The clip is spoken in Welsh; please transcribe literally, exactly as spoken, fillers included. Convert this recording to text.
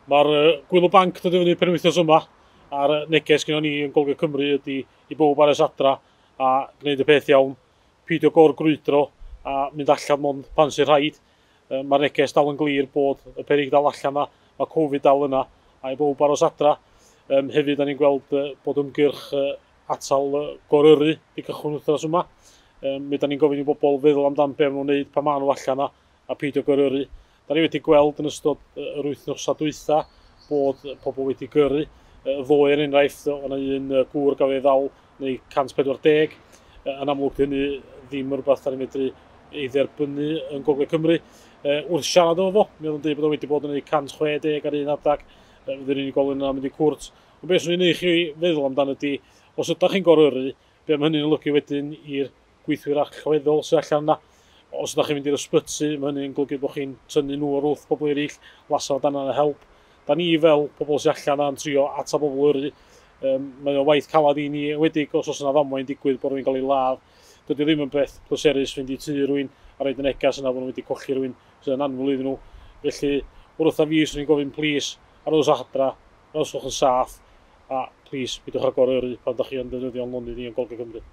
Mae'r uh, Gwyl y Banc dod i fyny penwythnos yma, a'r neges gyda ni yn Gogledd Cymru ydy i bawb aros adra a gwneud y peth iawn, peidio gor-grwydro a mynd allan mond pan sy'n rhaid. Mae'r neges dal yn glir bod y peryg dal allan yna, mae Covid dal yna, a i bawb aros adra. Um, hefyd, da ni'n gweld uh, bod ymgyrch uh, atal uh, goryrru di cychwyn wythnos yma. Um, mi da ni'n gofyn i bobl feddwl amdan be maen nhw'n wneud pan maen nhw allan yna a peidio goryrru. Da ni wedi gweld yn ystod yr wythnosau dwytha bod pobl wedi gyrru. Ddoe, er enghraifft, o'na un gŵr gafodd ei ddal neu cant pedwar deg. Yn amlwg, hynny ddim rhywbeth da ni'n medru ei dderbynnu yn Gogledd Cymru. Wrth siarad efo fo, mi oedd yn dweud bod o wedi bod yn ei cant chwe deg ar un adag, fydd yr unigolyn yna mynd i cwrt. Ond beth swn i'n neud chi feddwl amdano ydy, os ydych chi'n goryrru, be mae hynny'n olygu wedyn i'r gweithwyr allweddol sydd allan yna. Os ydych chi'n mynd i'r ysbyty, mae hynny'n golygu bod chi'n tynnu nhw o'r wrth bobl eraill, lasa dan yna help. Da ni fel pobl sy'n allan yna'n trio atal bobl yrru. Um, mae o waith calad i ni, enwedig os oes yna ddamwain digwydd bod rhywun gael ei ladd. Dydy o ddim yn beth pleserus fynd i tŷ rhywun a roid y negas yna bod nhw wedi colli rhywun sydd yn annwyl iddyn nhw. Felly, wrth a fi, swn i'n gofyn, plis, arhoswch adra, arhoswch yn saff, a plis, peidiwch â goryrru pan ydych chi yn defnyddio'n lonydd ni yn Gogledd Cymru.